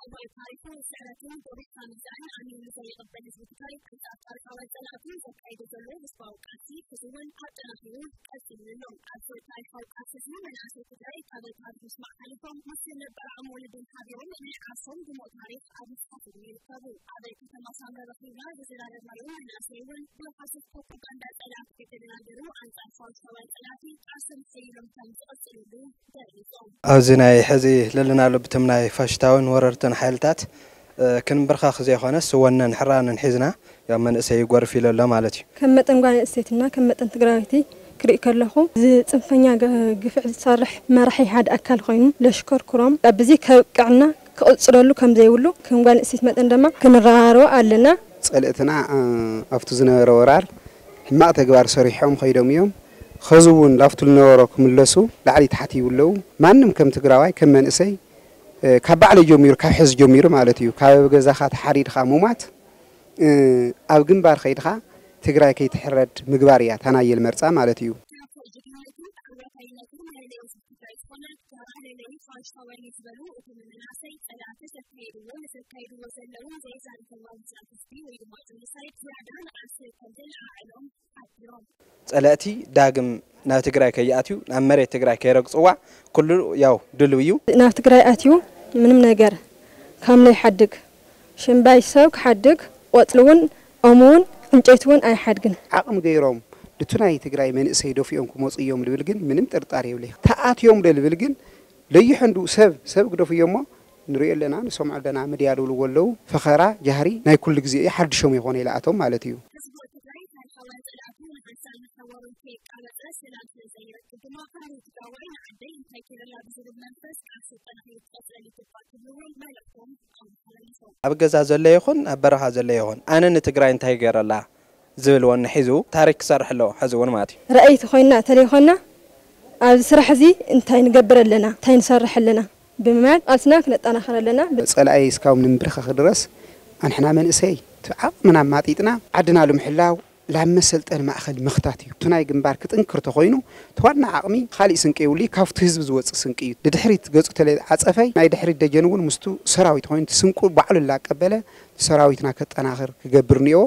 እዋይ ታሪኹ ስዕረትን ጎቢጥካ ምዛን ኣሚኑ ዘይቕበል ህዝቢ ትግራይ ኣንጻር ታሪኻውያን ጸላእቱ ዘካይዶ ዘሎ ህዝባዊ ቃልሲ ሕዚ እውን ኣጠናኺሩ ቀጺሉ ኣሎ። ኣብዚ ታሪኻዊ ቃልሲ እዚ መናእሰይ ትግራይ ካብ ታሪኽ ምስማዕ ሓሊፎም ምስ ነባር ዓቕሚ ወለዶም ሓቢሮም ናይ ዓርሶም ድሙቕ ታሪኽ ኣብ ምስሓት ይርከቡ። ኣብ ከተማ ሳምረ ረኺብና ዝዘራረብናዮ መናእሰይ እውን ብሓሶት ፕሮፓጋንዳ ጸላእቲ ከይተደናገሩ ኣንጻር ፋሽስታውያን ጸላእቲ ቃልሶም ሓይሎም ከም ዝቐጽልሉ ገሊጾም። ኣብዚ ናይ ሕዚ ለለናሉ ብቶም ናይ ፋሽስታውን ወረርትን ሓይልታት እ፣ ክንብርኸኽ ዘይኮነስ ወነን ሕራንን ሒዝና ያው መንእሰይ ይጎርፍ ኢሉ ኣሎ ማለት እዩ። ከም መጠን ጓል ኣንስተይትና ከም መጠን ትግራወይቲ ክርኢ ከለኹ እዚ ጽንፈኛ ገ- ግፍዕ ዝሰርሕ መራሒ ሓደ ኣካል ኮይኑ ለሽከርክሮም ኣብዚ ከብቅዕና ክቕጽለሉ ከም ዘይብሉ ከም ጓል ኣንስተይቲ መጠን ድማ ክንረባረቦ ኣለና። ጸልእትና እ፣ ኣብቲ ዝነበረ ወራር ሕማቕ ተግባር ሰሪሖም ኸይዶም እዮም። ኸዚ እውን ላፍቱ ዝነበሮ ክምለሱ ላዕሊ ታሕቲ ይብለዉ። ማንም ከም ትግራዋይ ከም መንእሰይ እ፣ ካብ ባዕለይ ጀሚሩ ካብ ሕዚ ጀሚሩ ማለት እዩ ካብ ገዛኻ ተሓሪድኻ ምሟት እ፣ ኣብ ግንባር ኸይድኻ ትግራይ ከይትሕረድ ምግባር እያ ታናየል መርፃ ማለት እዩ። ጸላእቲ ዳግም ናብ ትግራይ ከይኣትዩ ናብ መሬት ትግራይ ከይረግፅዋ ኩሉ ያው ድልው እዩ። ናብ ትግራይ ኣትዩ ምንም ነገር ካምለ ይሓድግ ሽምባይ ሰብ ክሓድግ ቆፅሊ እውን ኦም እውን ዕንጨይቲ እውን ኣይሓድግን። ዓቕሚ ገይሮም ድቱ ናይ ትግራይ መንእሰይ ደፊኦም ክመፁ እዮም ልብል ግን ምንም ጥርጣር የብለይ። ተኣትዮም ዶ ልብል ግን ለይሐንዱ ሰብ ሰብ ግደፉ እዮሞ ንሪኦ ኣለና ንሰምዖ ኣለና። ሚድያ ድብልዎ ኣለዉ ፈኸራ ጃህሪ ናይ ኩሉ ግዜ እዩ ሓድሾም ይኾነ ኢለኣቶም ማለት እዩ። ኣብ ገዛ ዘሎ ይኹን ኣብ በረኻ ዘሎ ይኹን ኣነ ንትግራይ እንታይ ገይረላ ዝብል ወኒ ሒዙ ታሪክ ክሰርሕ ኣለዎ ሕዚ እውን ማለት እዩ። ራእይቲ ኮይና ተለይኮና ኣብዚ ስራሕ እዚ እንታይ ንገብር ኣለና እንታይ ንሰርሕ ኣለና ብምባል ቃልስና ክነጠናኽር ኣለና። ጸላኢ እስካብ ንምብርኸኽ ድረስ ኣንሕና መንእሰይ እቲ ዓቕምና ኣማጢጥና ዓድና ንምሕላው ላብ መሰልጠኒ ማእኸል ምኽታት እዩ። እቲ ናይ ግንባር ክጥንክር ተኾይኑ እቲ ዋና ዓቕሚ ካሊእ ስንቂ የብሉ እዩ። ካብቲ ህዝቢ ዝወፅእ ስንቂ እዩ። ንድሕሪት ገፁ ተለዓፀፈይ ናይ ድሕሪት ደጀን እውን ምስቱ ሰራዊት ኮይኑ እቲ ስንቁ ባዕሉ ላቀበለ ሰራዊትና ከጠናኽር ክገብር እኒኦ።